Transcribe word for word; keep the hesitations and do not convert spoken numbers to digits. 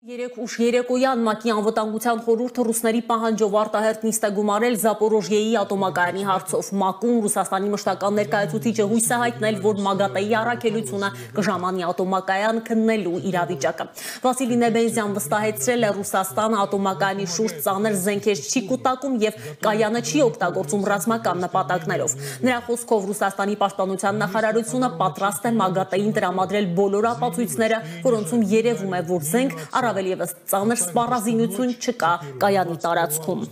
Երեք ուշ երեկոյան ՄԱԿ-ի անվտանգության խորհուրդը ռուսների պահանջով արտահերթ նիստ է գումարել Զապորոժիեի ատոմակայանի հարցով։ ՄԱԿ-ում Ռուսաստանի մշտական ներկայացուցիչը հույս է հայտնել, որ ՄԱԳԱՏԷ-ի առաքելությունը կժամանի ատոմակայան քննելու իրավիճակը։ Վասիլի Նեբենզյան վստահեցրել է, Ռուսաստանը ատոմակայանի շուրջ ծանր զենքեր չի կուտակում եւ կայանը չի օգտագործում ռազմական նպատակներով։ Նրա խոսքով Ռուսաստանի պաշտպանության նախարարությունը պատրաստ է ՄԱԳԱՏԷ-ին տրամադրել բոլոր ապացույցները, որոնցում երևում է, որ զենք առավել ևս ծանր սպառազինություն չկա կայանի տարածքում։